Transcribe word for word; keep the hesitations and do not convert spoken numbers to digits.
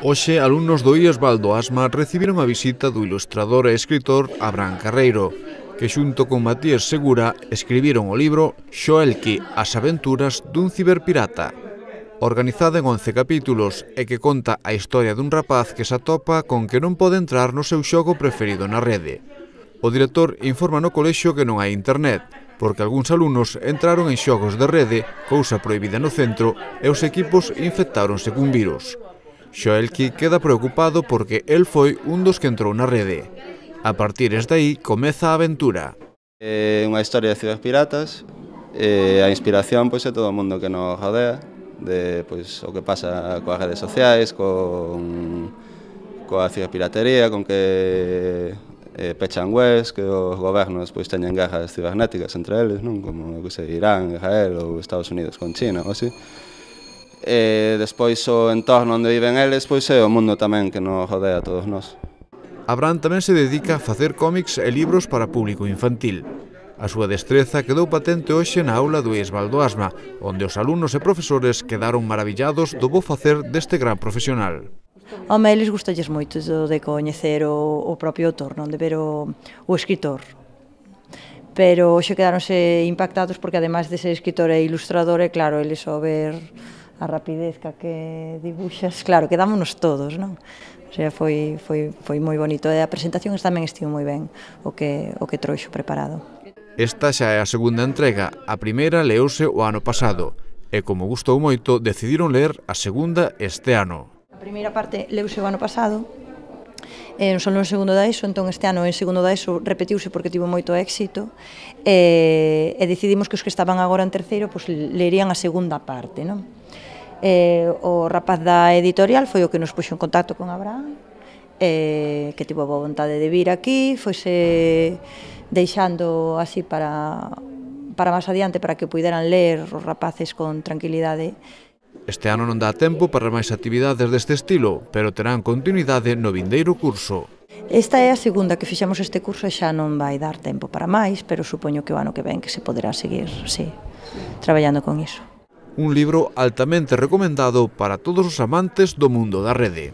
Hoxe, alumnos do I E S Valdo Asma recibiron a visita do ilustrador e escritor Abraham Carreiro, que xunto con Matías Segura escribiron o libro Xoelqui, as aventuras dun ciberpirata. Organizada en once capítulos e que conta a historia dun rapaz que se atopa con que non pode entrar no seu xogo preferido na rede. O director informa no colexio que non hai internet, porque algúns alumnos entraron en xogos de rede, cousa prohibida no centro, e os equipos infectáronse cun virus. Xoelqui queda preocupado porque el foi un dos que entrou na rede. A partir de aí comeza a aventura. É unha historia de ciberpiratas, e a inspiración pois, é todo o mundo que nos rodea, de pois, o que pasa coas redes sociais, con coa ciberpiratería, con que eh, pechan webs, que os gobernos pois, teñen guerras cibernéticas entre eles, non? Como que sei, Irán, Israel ou Estados Unidos con China ou así. E despois o entorno onde viven eles pois, é o mundo tamén que nos rodea a todos nós. Abraham tamén se dedica a facer cómics e libros para público infantil. A súa destreza quedou patente hoxe na aula do I E S Valdo Asma, onde os alumnos e profesores quedaron maravillados do bo facer deste gran profesional. Home, eles gustalles moito de coñecer o, o propio autor, non de ver o, o escritor. Pero hoxe quedaronse impactados porque ademais de ser escritor e ilustrador, é claro, eles ao ver a rapidez que dibuixas, claro, quedámonos todos, non? O sea, foi, foi, foi moi bonito e a presentación tamén estivo moi ben o que, o que trouxo preparado. Esta xa é a segunda entrega, a primeira leouse o ano pasado e como gustou moito decidiron ler a segunda este ano. A primeira parte leuse o ano pasado, eh, non só no segundo da ESO, entón este ano en segundo da ESO repetiuse porque tivo moito éxito e, e decidimos que os que estaban agora en terceiro pues, lerían a segunda parte, non? Eh, o rapaz da editorial foi o que nos puxo en contacto con Abraham, eh, que tivo a boa vontade de vir aquí, foise deixando así para, para máis adiante para que puderan ler os rapaces con tranquilidade. Este ano non dá tempo para máis actividades deste estilo, pero terán continuidade no vindeiro curso. Esta é a segunda que fixemos este curso e xa non vai dar tempo para máis, pero supoño que o ano que ven que se poderá seguir, sí, traballando con iso. Un libro altamente recomendado para todos os amantes do mundo da rede.